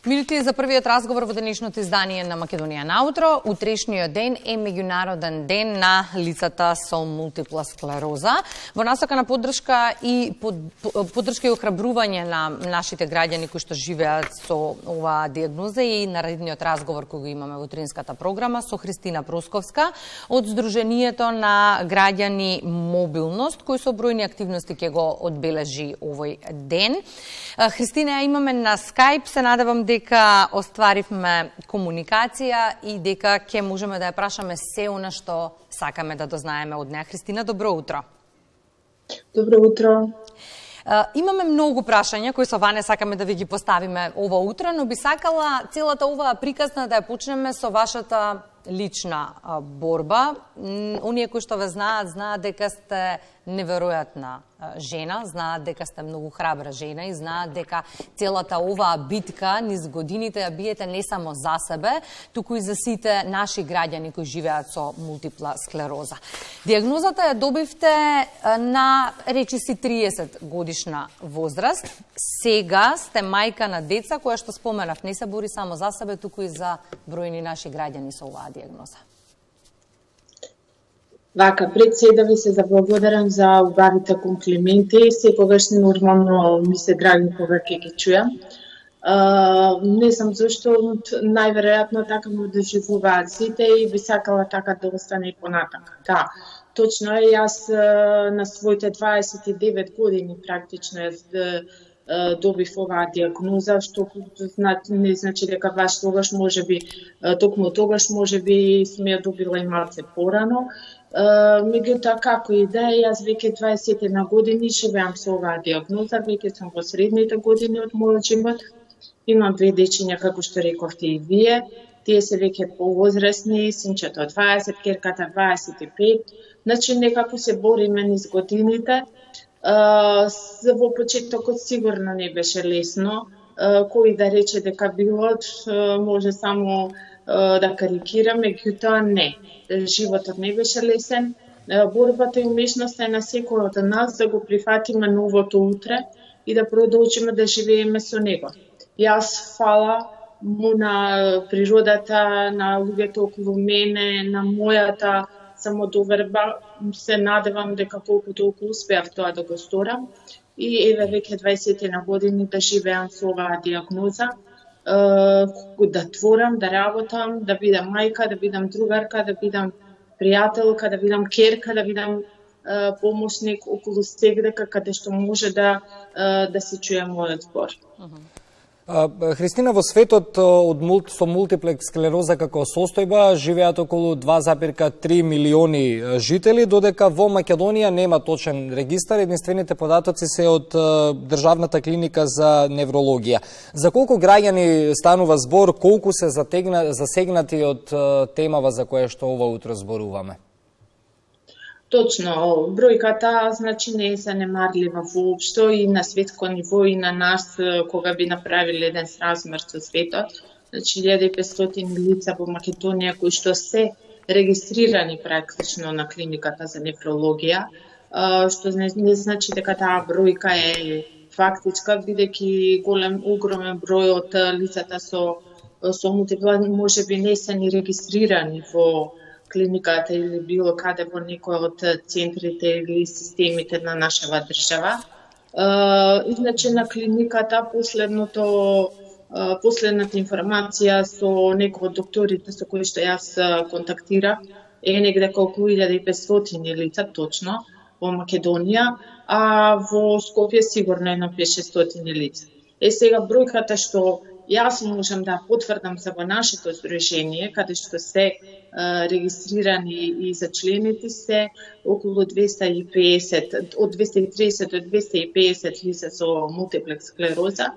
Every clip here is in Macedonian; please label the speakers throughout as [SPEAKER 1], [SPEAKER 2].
[SPEAKER 1] Минути за првиот разговор во денешното издание на Македонија наутро. Утрешниот ден е меѓународен ден на лицата со мултипла склероза. Во насока на поддршка и охрабрување на нашите граѓани кои што живеат со оваа диагноза и наредниот разговор кој го имаме во утринската програма со Христина Просковска од Сдруженијето на граѓани Мобилност, кој со бројни активности ќе го одбележи овој ден. Христина, ја имаме на Skype, се надевам дека остваривме комуникација и дека ќе можеме да ја прашаме се она што сакаме да дознаеме од неа. Христина, добро утро.
[SPEAKER 2] Добро утро.
[SPEAKER 1] Имаме многу прашања кои со Ване сакаме да ви ги поставиме ова утро, но би сакала целата оваа приказна да ја почнеме со вашата лична борба. Оние кои што ве знаат дека сте неверојатна жена, знаат дека сте многу храбра жена и знаат дека целата оваа битка низ годините ја биете не само за себе, туку и за сите наши граѓани кои живеат со мултипла склероза. Диагнозата ја добивте на речиси 30 годишна возраст. Сега сте мајка на деца која што споменав не се бори само за себе, туку и за бројни наши граѓани со оваа диагноза.
[SPEAKER 2] Вака, пред се да ви се заблагодарам за убавите комплименти. Секогаш нормално ми се драги кога ќе ги чујам. Не знам зашто, најверојатно така ме доживуваат сите и би сакала така да остане и понатака. Да, точно е, јас на своите 29 години практично добив оваа диагноза, што не значи дека баш тогаш можеби, токму тогаш можеби сме ја добила и малце порано. Меѓутоа, како и да е, јас веќе 21 години живеам со оваа диагноза, веќе сум во средните години од мојот живот. Имам две дечиња, како што рековте и вие. Тие се веќе повозрасни, синчето 20, керката 25. Значи, некако се бориме низ годините. Во почетокот сигурно не беше лесно. Кој да рече дека билот, може само да карикира, меѓутоа не. Животот не беше лесен. Борбата и умешноста е на секој од нас да го прифатиме новото утре и да продолжиме да живееме со него. Јас фала му на природата, на луѓето околу мене, на мојата самодоверба, се надевам дека колку толку успеав тоа да го сторам. И еве веќе 20 на години да живеам со оваа диагноза, да творам, да работам, да бидам мајка, да бидам другарка, да бидам пријателка, да бидам керка, да бидам помошник околу сегдека каде што може да се чуе мојот збор.
[SPEAKER 3] Христина, во светот со мултиплекс склероза како состојба живеат околу 2,3 милиони жители, додека во Македонија нема точен регистар, единствените податоци се од Државната клиника за неврологија. За колку граѓани станува збор, колку се засегнати од темава за која што ова утро зборуваме?
[SPEAKER 2] Точно, бројката значи не е занемарлива воопшто и на светско ниво и на нас кога би направиле еден сразмер со светот. Значи 1500 лица во Македонија кои што се регистрирани практично на клиниката за неврологија, што не значи дека таа бројка е фактичка, бидејќи огромен број од лицата со мултипла можеби не се ни регистрирани во клиниката или било каде во некој од центрите или системите на нашава држава. Иначе на клиниката последната информација со некој од докторите со кои што јас контактирав е негде колку 1500 лица точно во Македонија, а во Скопје сигурно едно 500 лица. Сега бројката што јас можам да потврдам за во нашето здружение, каде што се регистрирани и за члените се околу 250, од 230 до 250 лица со мултиплекс склероза,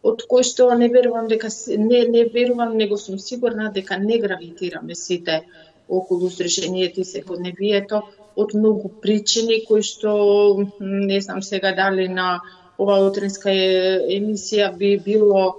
[SPEAKER 2] од кои што не верувам дека не верувам, него сум сигурна дека не гравитираме сите околу здружението и секојдневието од многу причини кои што не знам сега дали на оваа утринска емисија би било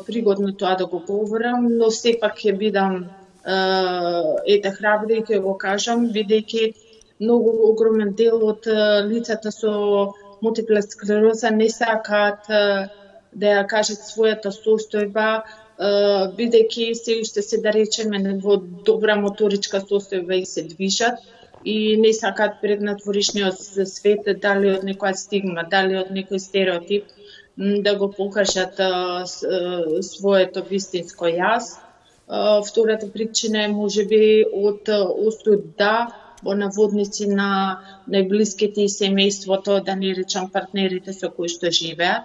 [SPEAKER 2] пригодно тоа да го говорам, но сепак ќе бидам храбра и ќе го кажам, бидејќи многу огромен дел од лицата со мултипла склероза не сакаат да ја кажат својата состојба, бидејќи се уште се да речеме во добра моторичка состојба и се движат и не сакаат пред надворешниот свет, дали од некоја стигма, дали од некој стереотип, да го покажат своето вистинско јас. Втората причина е можеби од осуд во наводници на најблиските и семејството, да не речам партнерите со кои што живеат.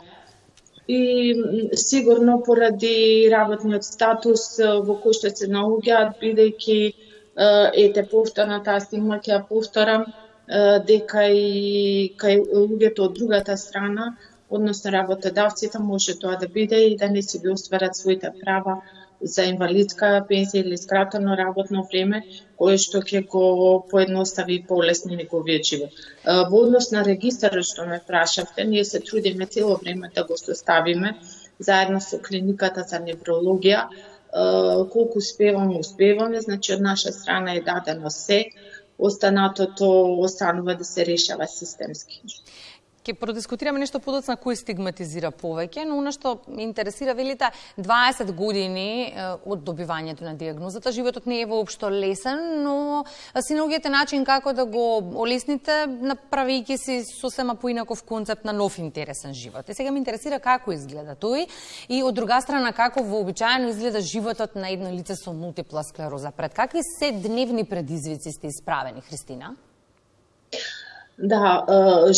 [SPEAKER 2] И сигурно поради работниот статус во кој што се наоѓаат, бидејќи повторно таа стигма ќе ја повторам, дека и кај луѓето од другата страна, односно работодавците, може тоа да биде и да не си ги остварат своите права за инвалидска пензија или скратено работно време, кое што ќе го поедностави и полесни неговиот живот. Во однос на регистарот што ме прашавте, ние се трудиме цело време да го составиме заедно со клиниката за неврологија. Колку успеваме, значи од наша страна е дадено се, останатото останува да се решава системски.
[SPEAKER 1] Ке продискутираме нешто подоцна кој стигматизира повеќе, но она што ме интересира, велите 20 години од добивањето на диагнозата, животот не е воопшто лесен, но си наоѓате начин како да го олесните, направејќи си сосема поинаков концепт на нов интересен живот. И сега ме интересира како изгледа тој и од друга страна како вообичаено изгледа животот на едно лице со мултипла склероза. Пред какви се дневни предизвици сте исправени, Христина?
[SPEAKER 2] Да,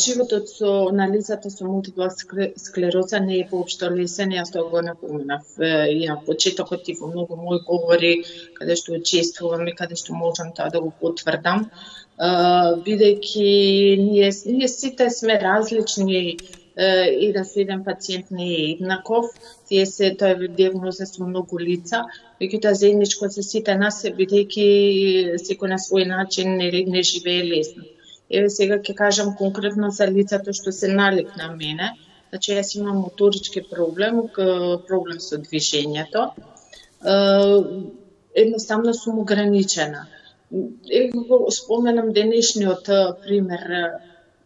[SPEAKER 2] животот на лицата со мултипла склероза не е воопшто лесен, јас тоа го напоменав и на почетокот и во многу мои говори, каде што учествувам и каде што можам тоа да го потврдам, бидејќи ние сите сме различни, еден со еден пациент не е еднаков, тоа е диагноза со многу лица, меѓутоа заедничко за сите нас е бидејќи секој на свој начин не живее лесно. Еве сега ќе кажам конкретно за лицата што се налик на мене. Значи јас имам моторички проблем со движењето. Едноставно сум ограничена. Го споменам денешниот пример.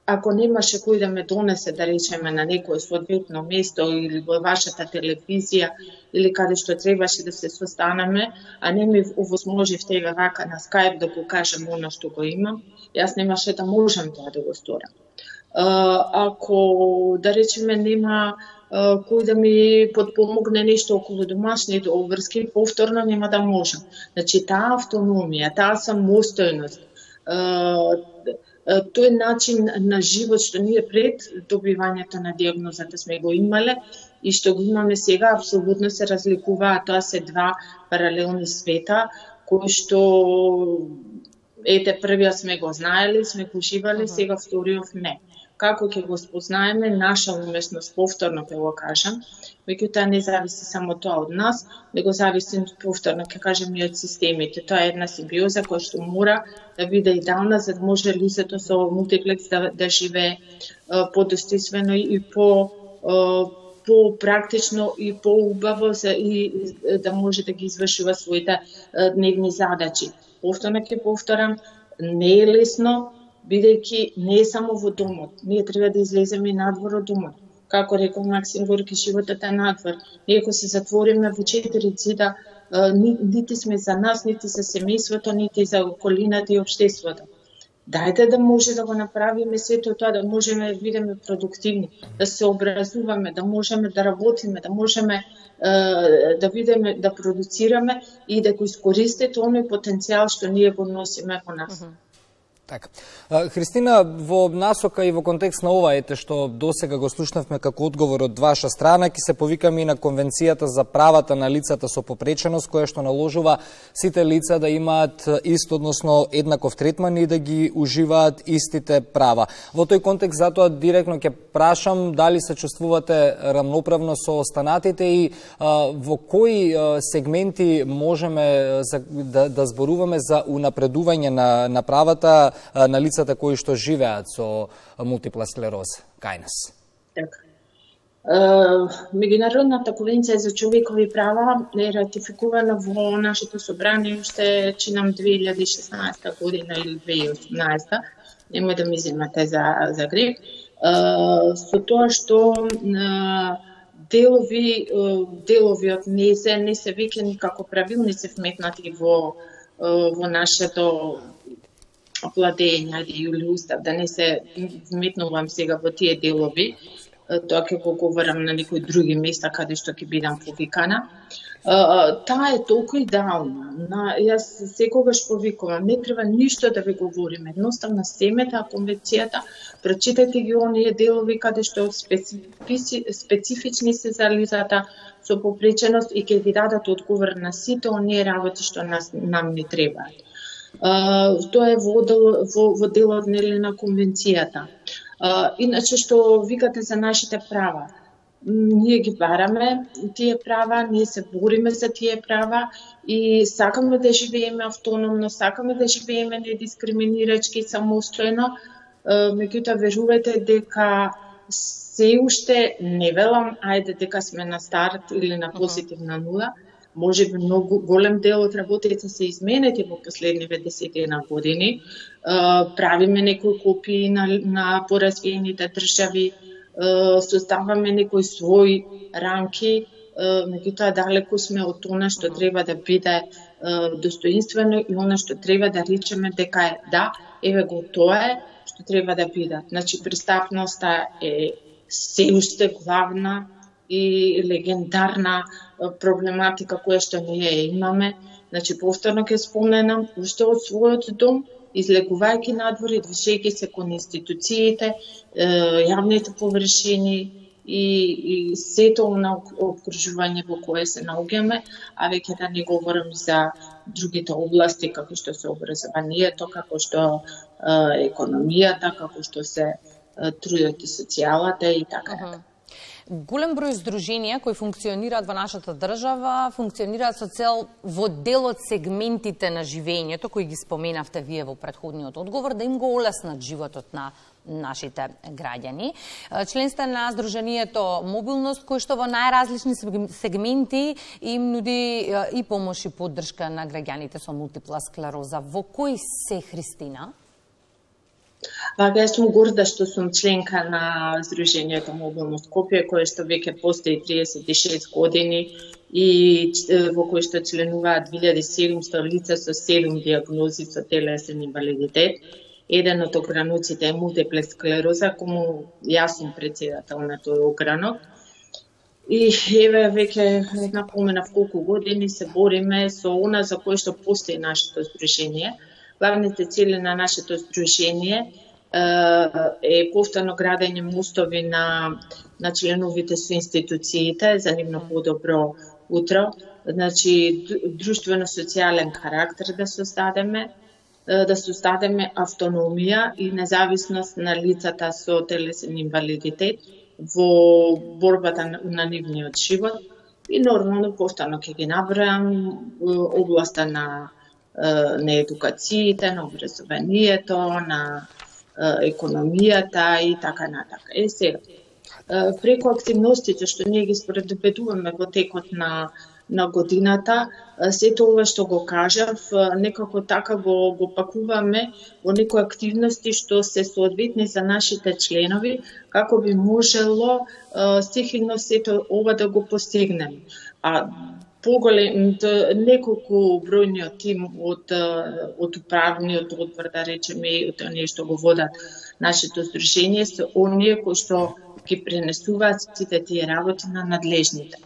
[SPEAKER 2] Ако немаше кој да ме донесе, да речеме, на некое соодветно место или во вашата телевизија или каде што требаше да се состанеме, а не ми овозможивте вака на Skype да го кажам оно што го имам, јас немаше да можам тоа да го сторам. Ако, да речеме, нема кој да ми подпомогне нешто околу домашните обврски, повторно нема да можам. Значи, таа автономија, таа самостојност, тој начин на живот што ние пред добивањето на диагнозата сме го имале и што го имаме сега, апсолутно се разликуваат. Тоа се два паралелни света, кои што првиот сме го знаеле, сме го живале, сега вториот не. Како ќе го спознаеме, наша уместност, повторно ќе го кажам, меѓутоа не зависи само тоа од нас, него зависи повторно, ќе кажем, и од системите. Тоа е една симбиоза која што мора да биде идеална, за да може лицето со мултиплекс да живее подостојствено и по-практично и по-убаво и да може да ги извршува своите дневни задачи. Повторно ќе повторам, не е лесно, бидејќи не е само во домот. Ние треба да излеземе надвор од домот. Како рекол Максим Горки, животот е надвор. Ние ако се затвориме во 4 цида, нити сме за нас, нити за семејството, нити за околината и општеството. Дајте да може да го направиме сето тоа, да можеме да бидеме продуктивни, да се образуваме, да можеме да работиме, да можеме да видиме, да продуцираме и да го искористите оној потенцијал што ние го носиме во нас.
[SPEAKER 3] Така. Христина, во насока и во контекст на ова што досега го слушнавме како одговор од ваша страна, ќе се повикаме и на Конвенцијата за правата на лицата со попреченост, која што наложува сите лица да имаат ист, односно еднаков третман и да ги уживаат истите права. Во тој контекст затоа директно ќе прашам дали се чувствувате рамноправно со останатите и во кои сегменти можеме да зборуваме за унапредување на правата на лицата кои што живеат со мултипла склероза кај нас.
[SPEAKER 2] Така. Меѓународната конвенција за човекови права е ратификувана во нашето собрание уште чинам 2016 година или 2018. Нема да ми земате за греб. Со тоа што делови од не се веќе никако правилници вметнати во нашето владење или устав, да не се вметнувам сега во тие делови, тоа ќе го говорам на некои други места каде што ќе бидам повикана. Таа е толку идеална. Јас секогаш повикувам, не треба ништо да ви говориме, едноставно семете конвенцијата, прочитајте ги оние делови каде што специфични се за лицата со попреченост и ќе ви дадат одговор на сите оние работи што нам не требаат. Тоа е во делот на конвенцијата. Иначе што викате за нашите права, ние ги бараме тие права, ние се бориме за тие права и сакаме да живееме автономно, сакаме да живееме недискриминирачки, самостојно, меѓутоа верувајте дека се уште не велам, ајде дека сме на старт или на позитивна нула, може би многу голем дел од работите се изменети во последниве 10 години. Правиме некои копии на поразвиените држави, создаваме некои своји рамки, меѓутоа далеку сме од она што треба да биде достоинствено и она што треба да речеме дека е да, еве го тоа е што треба да биде. Значи престапноста е се уште главна и легендарна проблематика која што ние имаме. Значи повторно ќе споменам, уште од својот дом, излегувајќи надвор и движејќи се кон институциите, јавните површини и сето на окружување во кое се наоѓаме, а веќе да не говорам за другите области, како што се образованието, како што економијата, како што се трудот и социјалата и така.
[SPEAKER 1] Голем број здруженија кои функционираат во нашата држава, функционираат со цел во дел од сегментите на живењето, кои ги споменавте вие во претходниот одговор, да им го олеснат животот на нашите граѓани. Член сте на Здруженијето Мобилност, кој што во најразлични сегменти им нуди и помош и поддршка на граѓаните со мултипла склероза. Во кој се, Христина?
[SPEAKER 2] Вака, јас сум горда што сум членка на Здруженијето Мобилност Скопје, кое што веќе постои 36 години и во кој што членуваат 2700 лица со 7 диагнози со телесен инвалидитет. Еден од огрануците е мултиплекс склероза, кому јас сум председател на тој огранок. И еве веќе напоменав колку години се бориме со она за кое што постои нашето здружение. Главните цели на нашето здружение е повторно градење мостови на членовите со институциите за нивно подобро утро. Значи, друштвено-социјален карактер да создадеме автономија и независност на лицата со телесен инвалидитет во борбата на нивниот живот. И нормално повторно ќе ги набројам областа на едукациите, на образованието, на економијата и така натака. Сега, преку активностите што ние ги споредобедуваме во текот на годината, сето ова што го кажав, некако така го пакуваме во некои активности што се соодветни за нашите членови, како би можело стихидно сето ова да го постигнеме. Неколку бројниот тим од управниот одбор, да речеме, и од оние што го водат нашето здружение, се оние кои што ги пренесуваат сите тие работи на надлежните.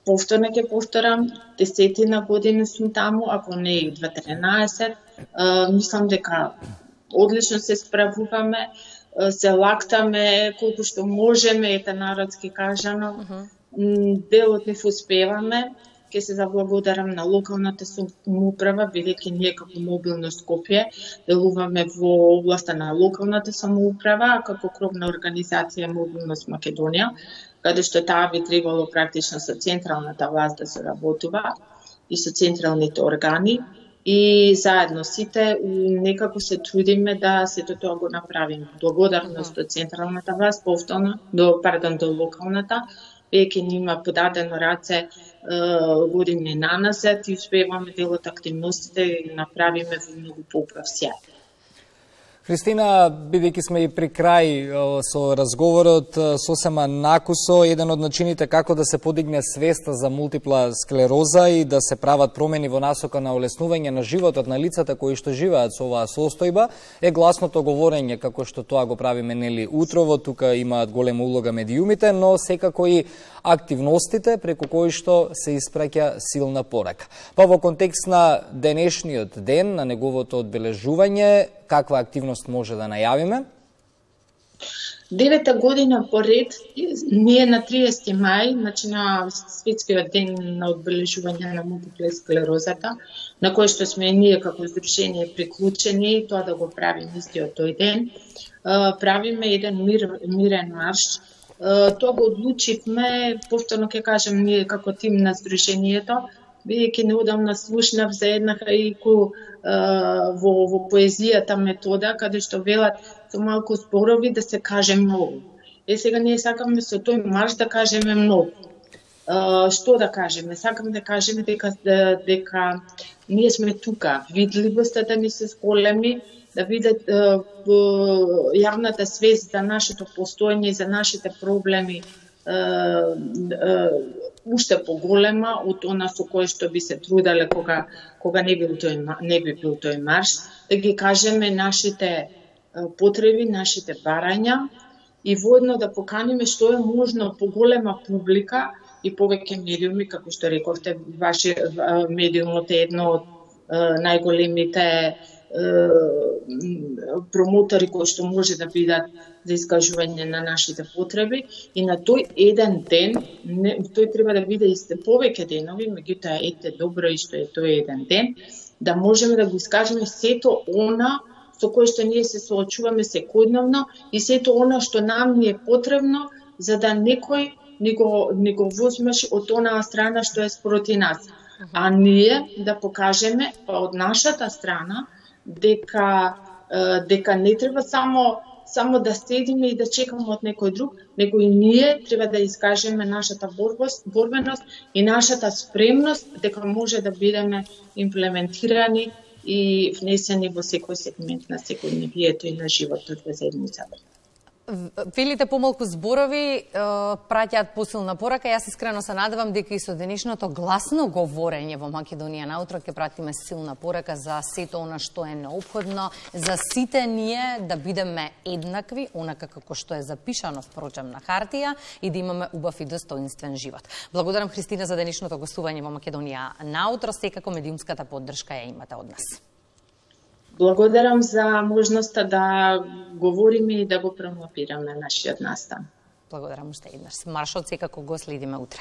[SPEAKER 2] Повторно ќе повторам, 10 години сум таму, ако не и 12, мислам дека одлично се справуваме, се лактаме колку што можеме, ете народски кажано, делот не успеваме. Ќе се заблагодарам на локалната самоуправа, бидејќи ние како Мобилност Скопје делуваме во областа на локалната самоуправа, како кровна организација Мобилност Македонија, каде што таа би требало практично со централната власт да се работува и со централните органи. И заедно сите некако се трудиме да сето тоа го направиме. Благодарност до централната власт, повторно, до локалната, веќе ни има подадено раце години наназад и успеваме дел од активностите да направиме во многу поуправ сјај.
[SPEAKER 3] Христина, бидејќи сме и при крај со разговорот, сосема накусо, еден од начините како да се подигне свеста за мултипла склероза и да се прават промени во насока на олеснување на животот на лицата кои што живеат со оваа состојба е гласното говорење, како што тоа го правиме нели утрово. Тука имаат голема улога медиумите, но секако и активностите преку кои што се испраќа силна порака. Па во контекст на денешниот ден, на неговото одбележување, каква активност може да најавиме?
[SPEAKER 2] 9-та година поред, ние на 30 мај, значи на светскиот ден на одбележување на мултипла склерозата, на кој што сме ние како здружение приклучени, тоа да го правиме истиот тој ден, правиме еден мирен марш. Тоа го одлучивме, повторно ќе кажем, ние како тим на здружението, бидејќи неодамна слушнав за една хаику во поезијата метода, каде што велат со малку зборови да се каже многу. Сега ние сакаме со тој марш да кажеме многу. Што да кажеме? Сакаме да кажеме дека ние сме тука, видливоста да ни се зголеми, да видат јавната свест за нашето постоење и за нашите проблеми уште поголема од она со кое што би се трудале кога не би бил тој марш, да ги кажеме нашите потреби, нашите барања и воедно да поканиме што е можно поголема публика и повеќе медиуми, како што рековте, ваши медиумот е едно од најголемите промотори кои што може да бидат за искажување на нашите потреби и на тој еден ден, тој треба да биде исте повеќе денови, меѓутоа ете добро и што е тој еден ден, да можеме да го искажеме сето она со кое што ние се соочуваме секојдневно и сето она што нам ни е потребно за да некој ни го возмеш од онаа страна што е спроти нас. А ние да покажеме од нашата страна дека не треба само да седиме и да чекаме од некој друг, него и ние треба да искажеме нашата борбеност и нашата спремност дека може да бидеме имплементирани и внесени во секој сегмент на секојдневието и на животот во заедницата.
[SPEAKER 1] Велите помалку зборови праќаат посилна порака. Јас искрено се надевам дека и со денешното гласно говорење во Македонија наутро ќе пратиме силна порака за сето она што е неопходно за сите ние да бидеме еднакви, онака како што е запишано впрочем на хартија и да имаме убав и достоинствен живот. Благодарам Христина за денешното гостување во Македонија наутро, секако медиумската поддршка ја имате од нас.
[SPEAKER 2] Благодарам за можноста да говориме и да го промотираме нашиот настан.
[SPEAKER 1] Благодарам уште еднаш. Маршот секако го следиме утре.